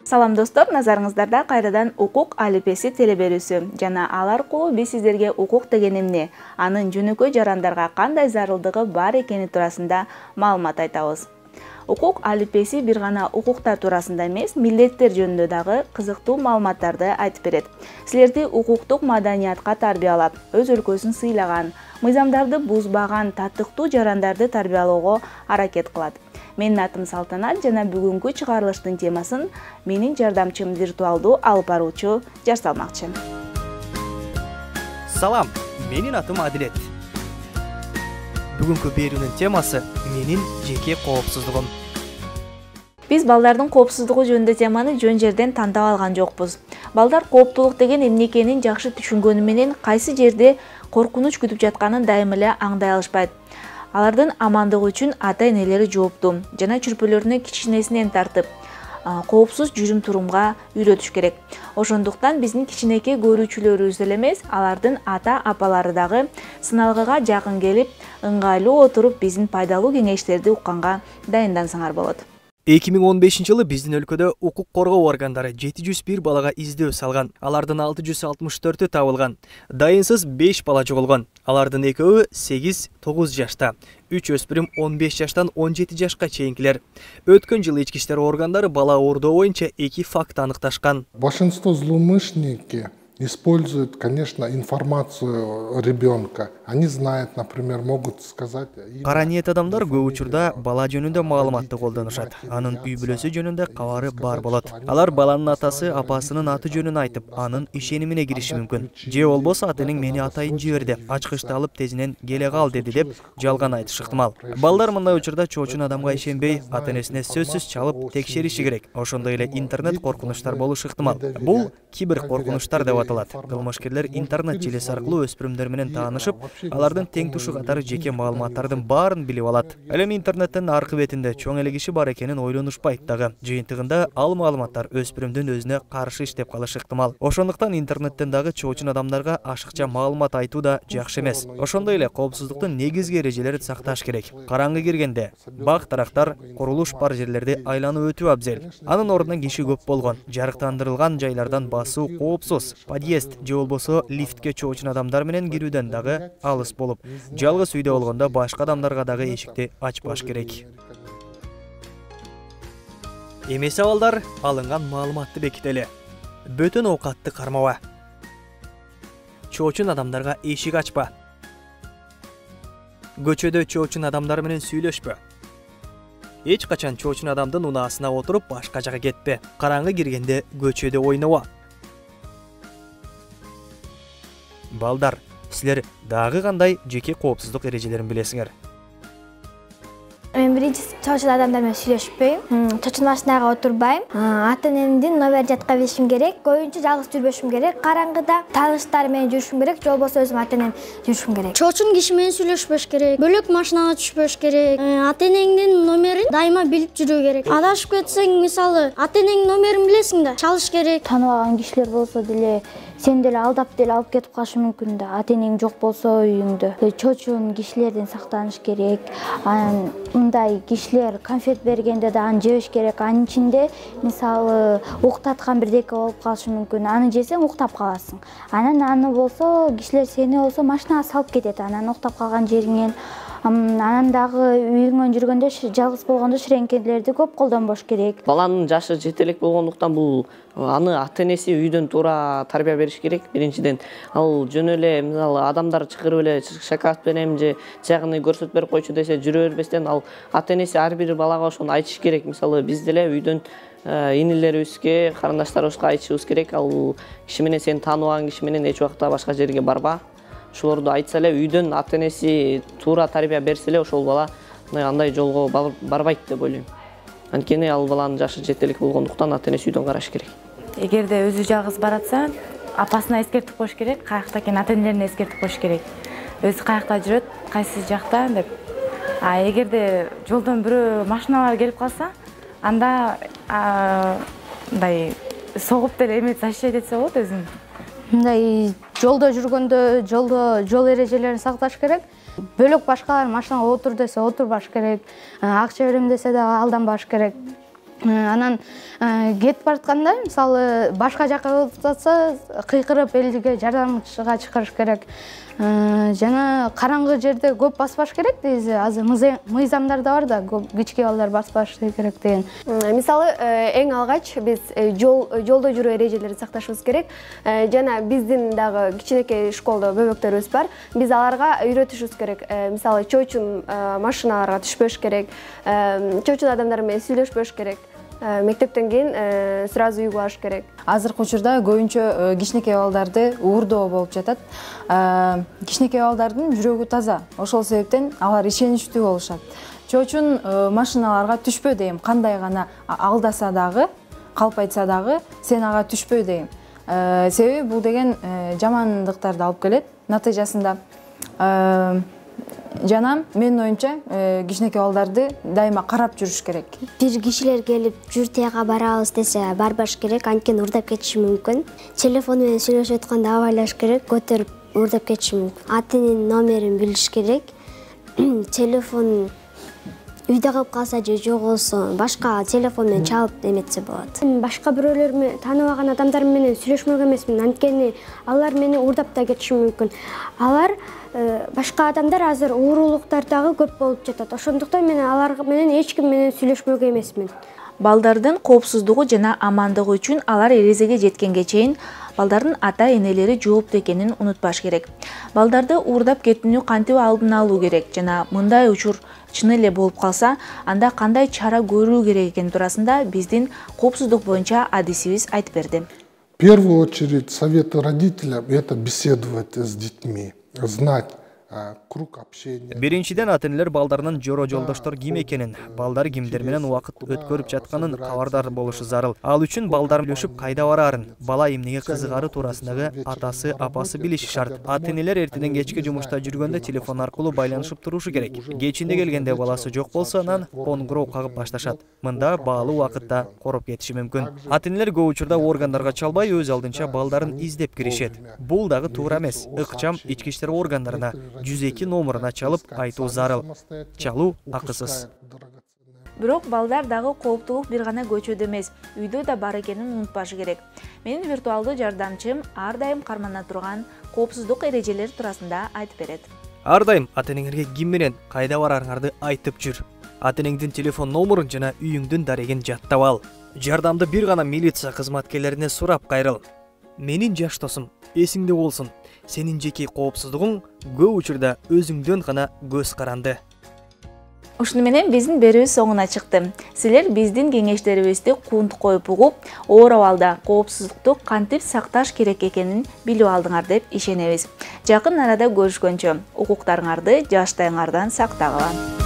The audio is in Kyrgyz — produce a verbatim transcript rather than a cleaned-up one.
Салам достор, назарыңыздарда кайрадан укук алипеси телеберүүсү жана ал аркылуу биз сиздерге укук деген эмне, анын жөнөкөй жарандарга кандай зарылдыгы бар экени туурасында маалымат айтабыз. Укук алипеси бир гана укуктар туурасында эмес, милдеттер жөнүндө дагы кызыктуу маалыматтарды айтып берет. Силерди укуктук маданиятка тарбиялап, өз өлкөсүн сыйлаган, мыйзамдарды бузбаган татыктуу жарандарды тарбиялоого аракет кылат. Менин атым Салтанат жана бүгүнкү чыгарылыштын темасын менин жардамчым виртуалдуу алып баруучу жасалмакчы. Салам, менин атым Адилет. Бүгүнкү берүүнүн темасы менин жеке коопсуздугум. Биз балдардын коопсуздугу жөнүндө теманы жөн жерден тандап алган жокпуз. Балдар кооптулук деген эмне экенин жакшы түшүнгөнү менен кайсы жерде коркунуч күтүп жатканын дайым эле аңдай алышпайт. Алардын амандыгы үчүн ата-энелери жооптуу жана чүрпөлөрүнө кичинесинен тартып, коопсуз жүрүм-турумга үйрөтүш керек. Ошондуктан биздин кичинекей көрүүчүлөрүбүз эле эмес, алардын ата-апалары дагы сыналгыга жакын келип, ыңгайлуу отуруп биздин пайдалуу кеңештерди укканга дайындансаңар болот. эки миң он бешинчи жылы биздин өлкөдө укук коргоо органдары жети жүз бир балага издөө салган. Алардын алты жүз алтымыш төртү табылган. Дайынсыз беш бала жоголгон. Алардын экөөү сегиз тогуз жашта, үч өспүрүм он беш жаштан он жети жашка чейинкилер. Өткөн жылы ички иштер органдары бала оорудоо боюнча эки факт аныкташкан. Большинство злоумышленники используют, конечно, информацию ребенка. Они знают, например, могут сказать... Кара ниет адамдар көп учурда бала жөнүндө маалыматты колдонушат. Анын үй бүлөсү жөнүндө кабары бар болот. Алар баланын атасы апасынын аты жөнүн айтып, анын ишенимине кириши мүмкүн. Же болбосо ата-энең мени атайын жиберди, ачкычты алып тезинен келе кал деди деп жалган айтышы ыктымал. Балдар мындай учурда чоочун адамга ишенбей, ата-энесине сөзсүз чалып текшериши керек. Ошондой эле интернет коркунучтар болушу ыктымал. Бул кибер коркунучтар деп аталат. Кылмышкерлер интернет желеси аркылуу өспүрүмдөр менен таанышып, алардын тең тушу катары жеке маалыматтардын баарын билип алат. Ал эми интернеттин аркы бетинде чоң эле киши бар экенин ойлонушпайт дагы. Жыйынтыгында ал маалыматтар өспүрүмдүн өзүнө каршы иштеп калышы ыктымал. Ошондуктан интернеттен дагы чоочун адамдарга ашыкча маалымат айтуу да жакшы эмес. Ошондой эле коопсуздуктун негизги эрежелерин сакташ керек. Караңгы киргенде бак-дарактар, курулуш бар жерлерди айланып өтүү абзел. Анын ордуна киши көп болгон, жарыктандырылган жайлардан басуу коопсуз. Подъезд же болбосо лифтке чоочун адамдар менен кирүүдөн дагы алыс болуп, жалгыз үйдө болгондо башка адамдарга дагы эшикти ачпаш керек. Эмесе балдар, алынган маалыматты бекители. Бөтөн оокатты кармаба. Чоочун адамдарга эшик ачпа. Көчөдө чоочун адамдар менен сүйлөшпө. Эч качан чоочун адамдын унаасына отуруп башка жака кетпе. Караңгы киргенде көчөдө ойнобо. Балдар, силер дагы кандай жеке коопсуздук эрежелерин билесиңер? Мен биринчи чоочун адамдар менен сүйлөшпөйм, чоочун машинага отурбайм, ата-энемдин номерин жатка беришим керек, көбүнчө жалгыз жүрбөшүм керек, караңгыда тааныштар менен жүрүшүм керек, же болбосо өзүм ата-энем жүрүшүм керек. Чоочун киши менен сүйлөшпөш керек, бөлөк машинага түшпөш керек, ата-энеңдин номерин дайыма билип жүрүү керек. Адашып кетсең, мисалы, ата-энеңдин номерин билесиң да, чалыш керек. Тааныбаган кишилер болсо деле сен деле алдап деле алып кетип калышы мүмкүн да, ата-энең жок болсо үйүңдө. Чоочун кишилерден сактаныш керек. Анан мындай кишилер конфет бергенде да аны жебеш керек. Анын ичинде мисалы уктаткан бирдеке болуп калышы мүмкүн. Аны жесең уктап каласың. Анан аны болсо кишилер сени болсо машинага салып кетет. Анан уктап калган жериңен. Анан дагы үйүңөн жүргөндө жалгыз болгондо ширеңкелерди көп колдонбош керек. Баланын жашы жете элек болгондуктан бул аны ата-энеси үйдөн туура тарбия бериш керек. Биринчиден, ал жөн эле мисалы адамдар чакырып эле шоколад берем же жагыны көрсөтүп берип койчу десе жүрө бербестен, ал ата-энеси ар бир балага ошону айтыш керек. Мисалы биз деле үйдөн инилерибизге, карындаштарыбызга айтышыбыз керек. Ал киши менен сени тааныбаган киши менен эч убакта башка жерге барба. Ошолорду айтса эле, үйдөн ата-энеси туура тарбия берсе эле, ошол бала андай жолго барбайт деп ойлойм. Анткени ал баланын жашы жете элек болгондуктан ата-энеси үйдөн караш керек. Эгерде өзү жалгыз баратса, апасына эскертип коюш керек, каякта экенин ата-энелерине эскертип коюш керек. Өзү каякта жүрөт, кайсы жакта деп. А эгерде жолдон бирөө машиналар келип калса, анда мындай согуп деле эме защищать этсе болот өзүн. Мындай жолдо жүргөндө жолдо жол эрежелерин сакташ керек. бөлөк башкалар машинага отур десе отурбаш керек, акча берем десе да алданбаш керек. Анан кетип баратканда мисалы башка жака болуп жатса кыйкырып элге жардамчыга чакырыш керек. Жана караңгы жерде көп баспаш керек дейбиз. Азыр мыйзамдар да бар да, көп кичке балдар баспаш керек деген. Мисалы эң алгач биз жол жолдо жүрүү эрежелерин сакташыбыз керек. Жана биздин дагы кичинекей школдо бөбөктөрүбүз бар. Биз аларга үйрөтүшүбүз керек. Мисалы чоочун машиналарга түшпөш керек. Чоочун адамдар менен сүйлөшпөш керек. Мектептен кийин сразу үйгө барыш керек. Азыркы учурда көбүнчө кичинекей балдарды уурдоо болуп жатат. Кичинекей балдардын жүрөгү таза. Ошол себептен алар ишеничтүү болушат. Чоочун машиналарга түшпө дейм. Кандай гана алдаса дагы, калп айтса дагы, сен ага түшпө дейм. Себеби бул деген жамандыктарды алып келет. Натыйжасында жана менин оюмча кичинекей балдарды дайыма карап жүрүш керек. Бир кишилер келип жүр тияга барабыз десе барбаш керек, анткени уурдап кетиши мүмкүн. Телефон менен сүйлөшүп атканда абайлаш керек, көтөрүп уурдап кетиши мүмкүн. Ата-эненин номерин билиш керек. Телефон үйдө калып калса же жок болсо башка телефон менен чалып эметсе болот. Башка бирөөлөр менен тааныбаган адамдар менен сүйлөшмөк эмесмин, анткени алар мени уурдап да кетиши мүмкүн. Алар башка адамдар азыр уурулуктар дагы көп болуп жатат. Ошондуктан мен алар менен эч ким менен сүйлөшмөк эмесмин. Балдардын коопсуздугу жана амандыгы үчүн алар эрезеге жеткенге чейин балдардын ата-энелери жооптуу экенин унутпаш керек. Балдарды уурдап кетүүнү кантип алдын алуу керек жана мындай учур чын эле болуп калса, анда кандай чара көрүү керек экени туурасында биздин коопсуздук боюнча адисибиз айтып берди. В первую очередь советы родителям — это беседовать с детьми, знать круг общения. Биринчиден ата-энелер балдарынын жоро жолдоштор ким экенин, балдар кимдер менен убакыт өткөрүп жатканын кабардар болушу зарыл. Ал үчүн балдар билишип кайда бараарын, бала эмнеге кызыгары туурасындагы атасы, апасы билиши шарт. Ата-энелер эртеден кечке жумушта жүргөндө телефон аркылуу байланышып турушу керек. Кечинде келгенде баласы жок болсо, анан коңгуроо кагып башташат. Мында баалуу убакытта короп кетиши мүмкүн. Ата-энелер көп учурда органдарга чалбай өз алдынча балдарын издеп киришет. Бул дагы туура эмес. Ыкчам ички иштер органдарына жүз эки номуруна чалып айтуу зарыл. Чалуу акысыз. Бирок балдар дагы кооптуулук бир гана көчөдө эмес, үйдө да бар экенин унутпашы керек. Менин виртуалдуу жардамчым ар дайым кармана турган коопсуздук эрежелери туурасында айтып берет. Ар дайым ата-энеңерге ким менен кайда барарыңарды айтып жүр. Ата-энеңдин телефон номурун жана үйүңдүн дарегин жаттап ал. Жардамды бир гана милиция кызматкерлерине сурап кайрыл. Менин жаш досум, эсиңде болсун. Сенин жеке коопсуздугуң көп учурда өзүңдөн гана көз каранды. Ушуну менен биздин берүүбүз соңуна чыкты. Силер биздин кеңештерибизди кунт коюп угуп, оор абалда коопсуздукту кантип сакташ керек экенин билип алдыңар деп ишенебиз. Жакын арада көрүшкөнчө укуктарыңарды жаштайыңардан сактагыла.